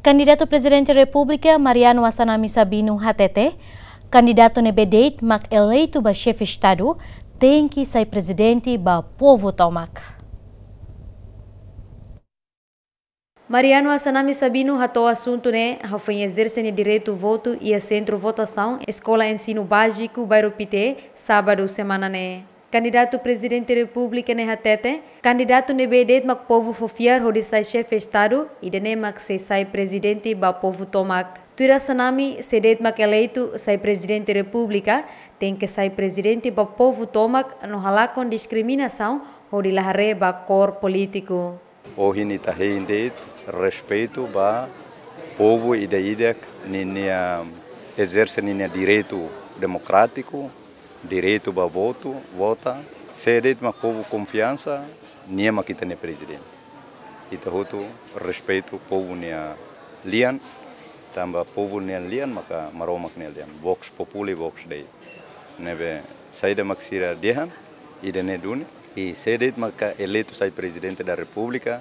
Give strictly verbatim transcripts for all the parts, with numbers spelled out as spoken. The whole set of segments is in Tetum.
Kandidatu Prezidente Repúblika Mariano Assanami Sabino hatete, kandidatu ne'ebé de'it mak eleitu ba xefe Estadu tenke sai prezidente ba povu tomak. Mariano Assanami Sabino hato'o asuntu ne'e hafoin ezerse nia direitu votu iha sentru votasaun Eskola Ensinu Báziku Bairru Pité, sábadu semana ne'e. Kandidatu Prezidente Repúblika ne'e hatete, kandidatu ne'ebé de'it mak povu fó fiar hodi sai xefe Estadu, ida-ne'e mak sei sai prezidente ba povu tomak. Tuir Assanami, sé de'it mak eleitu sai Prezidente Repúblika, tenke sai prezidente ba povu tomak no halakon diskriminasaun hodi la haree ba kór polítiku. Ohin ita hein de'it respeitu ba povu ida-idak ninia ezerse ninia direitu demokrátiku, direitu ba votu, vota. Sé de'it mak povu konfiansa, nia mak ita-nia prezidente. Ita hotu respeitu povu nia lian, tanba povu nia lian maka Maromak nia lian. Vox populi, vox Dei. Ne'ebé saida mak sira dehan, ida-ne'e duni. I sé de'it maka eleitu sai Prezidente da Repúblika,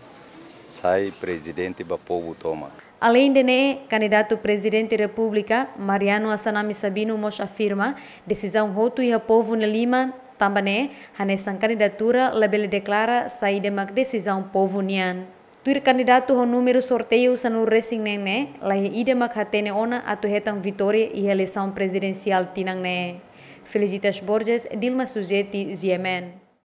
sai prezidente ba povu tomak. Aleinde ne'e, kandidatu Prezidente Repúblika, Mariano Assanami Sabino mós afirma, desizaun hotu iha povu nia liman, tanba ne'e, hanesan kandidatura labele deklara saida mak desizaun povu nian. Tuir kandidatu ho númeru sorteiu sanulu-resin-neen ne'e, laiha ida mak hatene ona atu hetan vitória iha eleisaun prezidensiál tinan ne'e. Felicitas Borges, Dilma Suzeti, G M N.